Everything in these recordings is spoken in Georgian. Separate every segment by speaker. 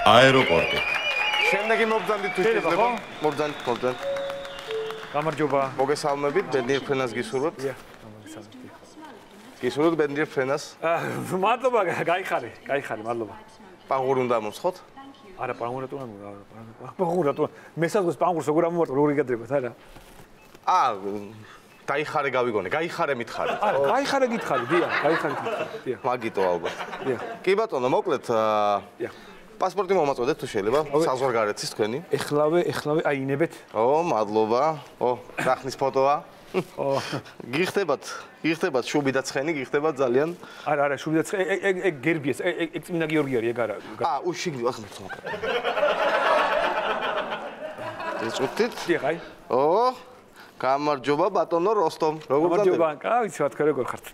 Speaker 1: აეროპორტი.
Speaker 2: შემდეგი მობრძანდი თუ შეიძლება? მობრძანდი.
Speaker 3: გამარჯობა.
Speaker 2: მოგესალმებით, ბენდნიერ ფრენას გისურვებთ. გისურვებთ ბენდნიერ ფრენას.
Speaker 3: მადლობა, გაიხარე, მადლობა.
Speaker 2: პანგური უნდა მომსხოთ?
Speaker 3: არა, პანგურად უნდა. პანგურად. მე საზღვრის პანგურს როგორ ამოვარტყო, როგორ იგადრებათ, არა?
Speaker 2: დაიხარე გავიგონე, გაიხარე მითხარი.
Speaker 3: არა, გაიხარე გითხარი, დიახ.
Speaker 2: მაგიტო ალბათ.
Speaker 3: დიახ.
Speaker 2: კი ბატონო, მოკლედ პასპორტი მომაწოდეთ თუ შეიძლება, საზღვარგარეთის თქვენი.
Speaker 3: ეხლავე აინებეთ.
Speaker 2: მადლობა. რახნის ფოტოა. გიხდებათ შუბი და ცხენი, გიხდებათ ძალიან.
Speaker 3: არა, შუბი და ცხენი, ეგ გერბიეს, ეგ წმინდა გიორგი არის, ეგ არა.
Speaker 2: უშიგნი, ახლა მერცხმა. წუთით?
Speaker 3: დიახ, აი.
Speaker 2: გამარჯობა ბატონო როსტომ. როგორ გაგდება?
Speaker 3: გამარჯობა, ვიცი რა თქვა როგორ ხართ.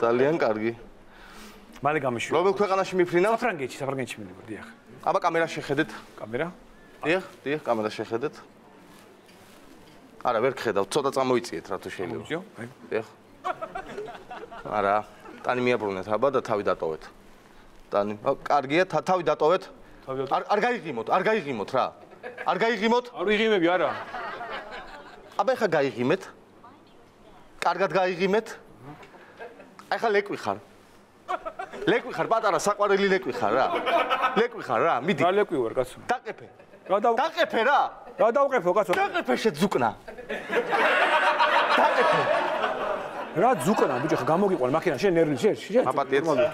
Speaker 2: ძალიან კარგი.
Speaker 3: მალე გამიშვი.
Speaker 2: რომელ ქვეყანაში მიფრინავ?
Speaker 3: საფრანგეთში მივიდა, დიახ.
Speaker 2: აბა კამერა შეხედეთ.
Speaker 3: კამერა?
Speaker 2: დიახ, კამერა შეხედეთ. არა, ვერ გხედავ, ცოტა წამოიწიეთ რა თუ შეიძლება. დიახ. არა, ტანი მიაბრუნეთ აბა და თავი დატოვეთ. ტანი, კარგია, თავი დატოვეთ. არ გაიღიმოთ რა. არ გაიღიმოთ?
Speaker 3: არ ვიღიმები არა.
Speaker 2: აბა ეხა გაიღიმეთ. კარგად გაიღიმეთ. ეხა ლეკვი ხარ, პატარა საყვარელი ლეკვი ხარ რა. მიდი.
Speaker 3: რა ლეკვი ვარ, კაცო?
Speaker 2: დაყეფე.
Speaker 3: დაყეფე რა. რა დავყეფო, კაცო?
Speaker 2: დაყეფე შეძუკნა. დაყეფე.
Speaker 3: რა ძუკნა, ბიჭო, ხა გამოგიყვან მაქინა, შენ ნერვი შენ.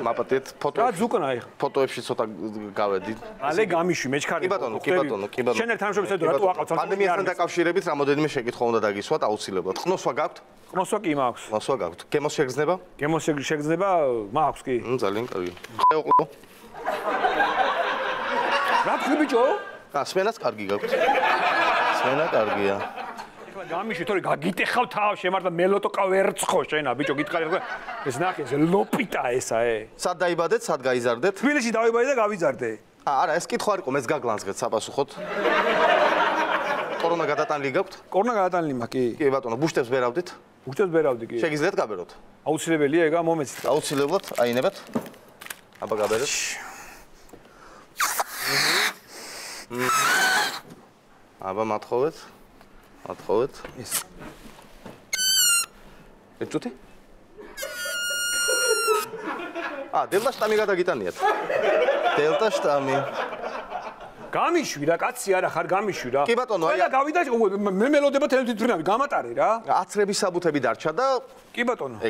Speaker 2: მაპატეთ ფოტო.
Speaker 3: რა ძუკნა ეხა?
Speaker 2: ფოტოებში ცოტა გავედი.
Speaker 3: ალე გამიშვი, მეჩქარი.
Speaker 2: კი ბატონო.
Speaker 3: შენ ერთ თამაშობთ ედო რატო აყავთ?
Speaker 2: პანდემიასთან დაკავშირებით რამოდენიმე შეკითხვა უნდა დაგისვათ აუცილებლად. ყნოსვა გაქვთ?
Speaker 3: ყნოსვა კი მაქვს.
Speaker 2: ყნოსვა გაქვთ. გემოს შეგრძნება?
Speaker 3: გემოს შეგრძნება მაქვს კი.
Speaker 2: ძალიან კარგი. ხეოყლო.
Speaker 3: რა თქვი ბიჭო?
Speaker 2: სმენაც კარგი გაქვთ. სმენა კარგია.
Speaker 3: ეხლა გამიშვი, თორე გაგიტეხავ თავ შემართა მელოტოკა ვერცხო შენა ბიჭო, გითხარი ხო? ეს ნახე, ეს ლოპიტა ესა
Speaker 2: სად დაიბადეთ, სად გაიზარდეთ?
Speaker 3: თბილისში დავიბადე და გავიზარდე.
Speaker 2: არა, ეს კითხვა არ იყო, მეც გაგლანძღეთ საპასუხოდ. კორონა გადატანილი გაქვთ?
Speaker 3: კორონა გადატანილი მაქვს, კი.
Speaker 2: კი ბატონო, ბუშტებს ვერავდით?
Speaker 3: ბუშტებს ვერავდი, კი.
Speaker 2: შეგიძლიათ გაბეროთ?
Speaker 3: აუცილებელია ეგა, მომეცით.
Speaker 2: აუცილებლად, აინებათ. აბა გაბერეთ. აბა მათხოვეთ. ეს. ეწუთი? დელტა შტამი გადაგიტანიათ. დელტა შტამი.
Speaker 3: გამიშვი რა, კაცი არა ხარ გამიშვი რა.
Speaker 2: კი ბატონო,
Speaker 3: აი გავიდა, მე მელოდება თვითმფრინავი, გამატარე რა.
Speaker 2: აცრების საბუთები დარჩა და
Speaker 3: კი ბატონო.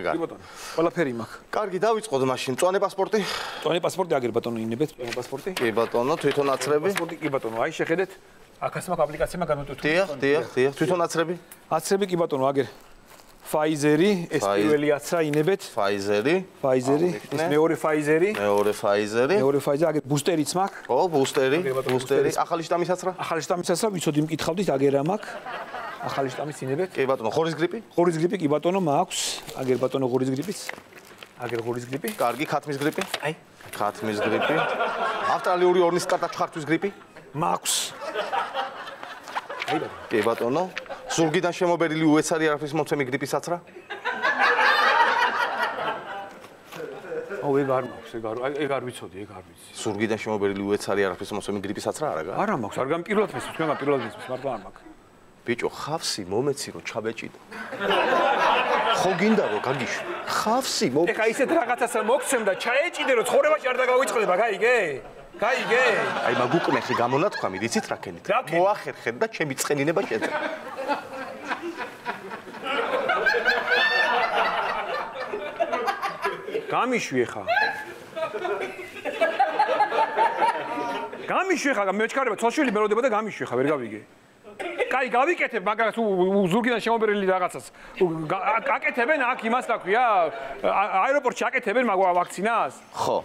Speaker 3: ყველაფერი მაქვს.
Speaker 2: კარგი, დავიწყოთ მაშინ. წვანე პასპორტი?
Speaker 3: წვანე პასპორტი აგერ ბატონო, ინებეთ წვანე პასპორტი?
Speaker 2: კი ბატონო, თვითონ აცრები?
Speaker 3: პასპორტი კი ბატონო, აი შეხედეთ. აქაც მაქვს აპლიკაცია განმოტვირთული.
Speaker 2: დიახ. თვითონ აცრები?
Speaker 3: აცრები კი ბატონო, აგერ. Pfizer-ი, ეს პირველი აცრა ინებეთ.
Speaker 2: Pfizer-ი,
Speaker 3: ეს მეორე Pfizer-ი. მეორე Pfizer, აგერ ბუსტერიც მაქვს.
Speaker 2: ბუსტერი. ახალი შტამის აცრა?
Speaker 3: ახალი შტამის აცრა, ვიცოდი მკითხავდით, აგერა მაქვს. ახალი შტამის ინებეთ.
Speaker 2: კი ბატონო, ღორის გრიპი?
Speaker 3: ღორის გრიპი კი ბატონო მაქვს. აგერ ბატონო ღორის გრიპიც. აგერ ღორის გრიპი.
Speaker 2: კარგი, ხათმის გრიპი?
Speaker 3: აი,
Speaker 2: ხათმის გრიპი. ავსტრალიური ორნის კატა ჩხართვის გრიპი?
Speaker 3: მაქვს. აი ბატონო.
Speaker 2: კი ბატონო. ზურგიდან შემობერილი უეცარი არაფრის მომცემი გრიპის აცრა?
Speaker 3: ეგ არ მაქვს, ეგ არ ვიცოდი.
Speaker 2: ზურგიდან შემობერილი უეცარი არაფრის მომცემი გრიპის აცრა არა გაქვს?
Speaker 3: არა მაქვს, არ გამპირლად მესმის, თქვენგან პირველად მესმის, მარტო არ მაქვს.
Speaker 2: ბიჭო, ხავსი მომეცი რომ ჩაბეჭიდო. ხო გინდა რომ გაგიშვი. ხავსი
Speaker 3: ეხა ისეთ რაღაცას მოგცემ და ჩაეჭიდე რომ ცხოვრებაში არ დაგავიწყდება, გაიგე?
Speaker 2: აი მაგუკნეხი გამონათქვამი, იცით რა ქენით? მოახერხეთ და ჩემი წყენინება შეძე.
Speaker 3: გამიშვი ხა. მეჩქარება ცოშვილი მელოდება და გამიშვი ხა, ვერ გავიგე. კაი, გავიკეთებ, მაგრამ თუ ზურგიდან შემობერილი რაღაცას. აკეთებენ აქ იმას რა ქვია? აეროპორტში აკეთებენ ვაქცინას?
Speaker 2: ხო.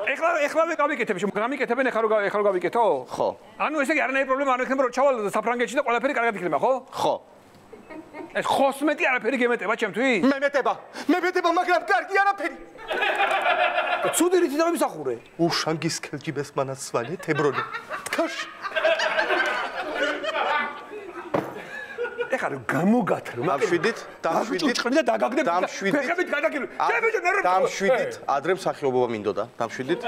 Speaker 3: ეხლა გავიკეთებ, გამიკეთებენ ეხლა რო გავიკეთო?
Speaker 2: ხო.
Speaker 3: ანუ ესე იგი არანაირი პრობლემა არ ექნება რომ ჩავალ საფრანგეთში და ყველაფერი კარგად იქნება, ხო?
Speaker 2: ხო.
Speaker 3: ეს ხოსმეტი არაფერი გემეტება ჩემთვის?
Speaker 2: მე მეტება, მაგრამ კარგი არაფერი.
Speaker 3: ცუდი რითი დავიმსახურე?
Speaker 2: უშანგის კელჯიბეს მანაცვალე თებრონე. თხაშ.
Speaker 3: ეხლა გამოგათრო
Speaker 2: დამშვიდით
Speaker 3: ჭრჭყნი და დაგაგდებ ფეხებით გადაგილო შევეჯო ნერვები
Speaker 2: დამშვიდით ადრე მსახიობობა მინდოდა დამშვიდით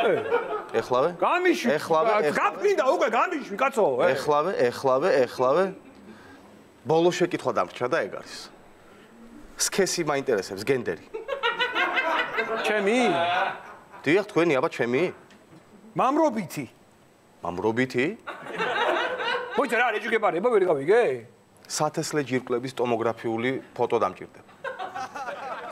Speaker 2: ეხლავე
Speaker 3: გამიშვი
Speaker 2: ეხლავე
Speaker 3: გაფრინდა უკვე გამიშვი კაცო
Speaker 2: ეხლავე ბოლო შეკითხვა დამრჩა და ეგ არის სქესი მაინტერესებს გენდერი
Speaker 3: ჩემი
Speaker 2: დიახ თქვენი აბა ჩემი
Speaker 3: მამრობითი მოიცა რა რეჯიგებარება ვერ გავიგე
Speaker 2: სათესლე ჯირკვლების ტომოგრაფიული ფოტო დამჭირდება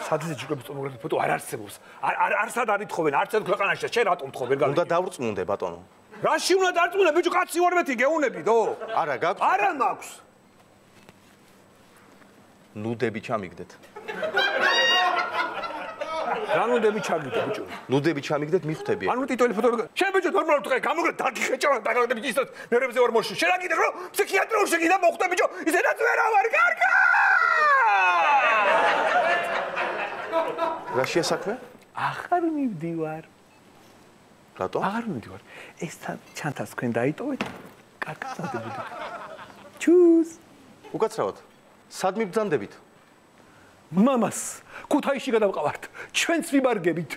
Speaker 3: სათესლე ჯირკვლების ტომოგრაფიული ფოტო არ არსებობს არ სად არითხოვენ არც ერთ ქვეყანაში შენ რატომ თხოვ ვერ გავიგე
Speaker 2: უნდა დავრწმუნდე ბატონო
Speaker 3: რაში უნდა დარწმუნე ბიჭო კაცი ვარ მეთი გეუნებიდო
Speaker 2: არა გაქვს
Speaker 3: არა მაქვს
Speaker 2: ნუდები ჩამიგდეთ
Speaker 3: რა ნუდები ჩაგიდე ბიჭო
Speaker 2: ნუდები ჩამიგდეთ მიხვდები
Speaker 3: ანუ ტიტული ფოტო შენ ბიჭო ნორმალურად თქვენ გამოგრე დაგიხეჭა დაგაგდები ის ნერვებზე ვარ მოშ შენ აგიდე რომ ფსიქიატრიაში შეგიდა მოხვდა ბიჭო ისედაც ვერ ავარ კარგა
Speaker 2: რა შეასაქმე
Speaker 3: აღარ მივდივარ
Speaker 2: რატო
Speaker 3: აღარ მივდივარ ეს ჩანთას თქვენ დაიტოვეთ კარგად დავდებოდი ჩუს
Speaker 2: უკაცრავად სად მიბრძანდებით
Speaker 3: მამას ქუთაისში გადავყავართ ჩვენც ვიბარგებით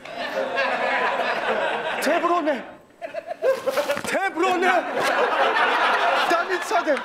Speaker 3: თებრონე დამიცადე